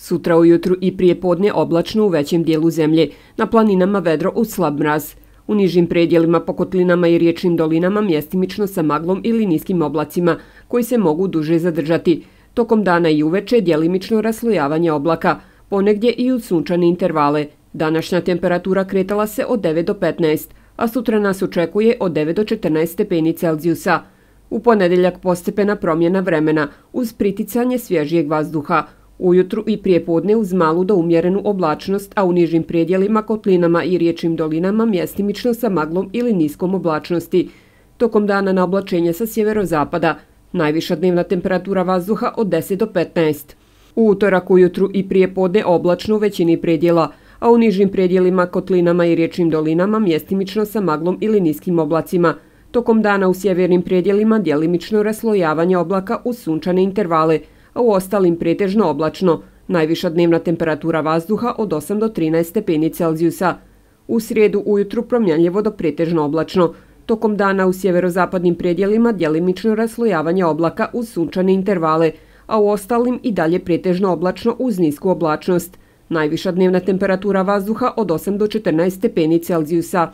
Sutra ujutru i prije podne oblačno u većem dijelu zemlje, na planinama vedro uz slab mraz. U nižim predjelima po kotlinama i riječnim dolinama mjestimično sa maglom ili niskim oblacima, koji se mogu duže zadržati. Tokom dana i uveče djelimično raslojavanje oblaka, ponegdje i uz sunčane intervale. Današnja temperatura kretala se od 9 do 15, a sutra nas očekuje od 9 do 14 stepeni Celzijusa. U ponedeljak postepena promjena vremena uz priticanje svježijeg vazduha. Ujutru i prije podne uz malu do umjerenu oblačnost, a u nižim predjelima, kotlinama i riječnim dolinama mjestimično sa maglom ili niskom oblačnosti. Tokom dana na oblačenje sa sjeverozapada. Najviša dnevna temperatura vazduha od 10 do 15. U utorak ujutru i prije podne oblačno u većini predjela, a u nižim predjelima, kotlinama i riječnim dolinama mjestimično sa maglom ili niskim oblacima. Tokom dana u sjevernim predjelima djelimično raslojavanje oblaka uz sunčane intervale, a u ostalim pretežno oblačno. Najviša dnevna temperatura vazduha od 8 do 13 stepeni Celzijusa. U srijedu ujutru promjenljivo do pretežno oblačno. Tokom dana u sjeverozapadnim predjelima djelimično raslojavanje oblaka uz sunčane intervale, a u ostalim i dalje pretežno oblačno uz nisku oblačnost. Najviša dnevna temperatura vazduha od 8 do 14 stepeni Celzijusa.